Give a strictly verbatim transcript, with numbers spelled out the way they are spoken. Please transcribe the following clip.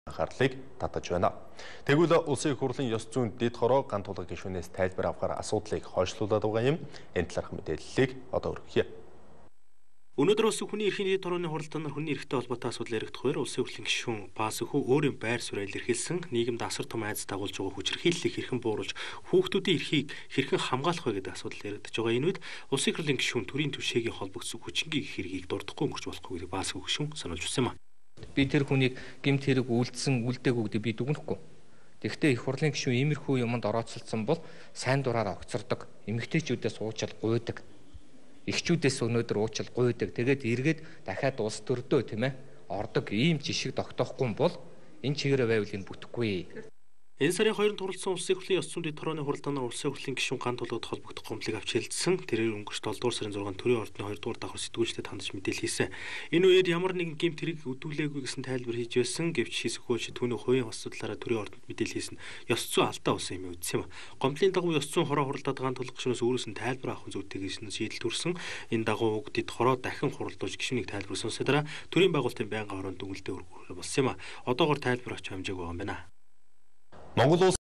анхаарлыг татаж байна. Тэгвэл улсын их хурлын ёс зүйн дэд хороо ган тулга гишүүнээс тайлбар авахар асуудлыг хойшлуулад байгаа юм. Энэ талаарх мэдээллийг одоо өргөхье. Өнөөдөр улсын хүний эрхийн дэд хорооны хуралдаанаар хүний эрхтэй холбоотой асуудал яригдах хоёр улсын хурлын гишүүн Пасөхүү өөрийн байр суурь илэрхийлсэн нийгэмд асар том айдас дагуулж байгаа хүчирхийллийг хэрхэн бууруулж хүүхдүүдийн эрхийг хэрхэн хамгаалах вэ гэдэг асуудал яригдж байгаа. Энэ үед улсын их хурлын гишүүн төрийн түвшээгийн холбогдсон хүчингийн хэргийг дурдахгүй өнгөрч болохгүй гэдэг Пасөхүү гишүүн сануулж өгсөн юм. Би тэр хүнийг гэмт хэрэг үйлдсэн үлдээгүй гэдэг би дүгнэхгүй. Тэгэхдээ их хурлын гишүүн иймэрхүү юмд орооцолцсон бол сайн дураараа огцордог, эмэгтэйчүүдээс уучил гуйдаг. Эхчүүдээс өнөөдөр уучил гуйдаг. Тэгээд эргээд дахиад улс төрдөө тийм ээ ордог ийм жишг тогтоохгүй бол энэ чигээрээ байвал энэ бүтэхгүй. Энэ сарын хоёрын турласан улсын их хурлын ёс зүйн дэд хорооны хуралдаанаар улсын хурлын гишүүн ган тулгад холбогдох гомдлыг авч хэлэлцсэн. Тэрээр өнгөрч долдугаар сарын зургаанд төрийн ордны хоёрдугаар давхар сэтгүүлчдэд хандаж мэдээлэл хийсэн. Энэ үед ямар нэгэн гэмт хэрэг өдүүлээгүй гэсэн тайлбар хийж байсан. Гэвч Хисэхүүч түүний хувийн хос судлаараа төрийн ордонд мэдээлэл хийсэн. Ёс зүйн алдаа болсон юм үзсэн юм. Гомдлын дагуу ёс зүйн хороо хуралдаад ган тулгах гишүүнээс өөрөөс нь тайлбар авах зүйтэй гэсэн шийдэл төрсөн. Энэ дагуу уг дэд хороо дахин хуралдуулж гишүүнийг тайлбар сонсон дараа төрийн байгуулалтын байнгын хороонд дүнэлтээ өргөх болсон юм а. Одоогоор тайлбар авч хэмжээг байгаа юм байна. Монгол улс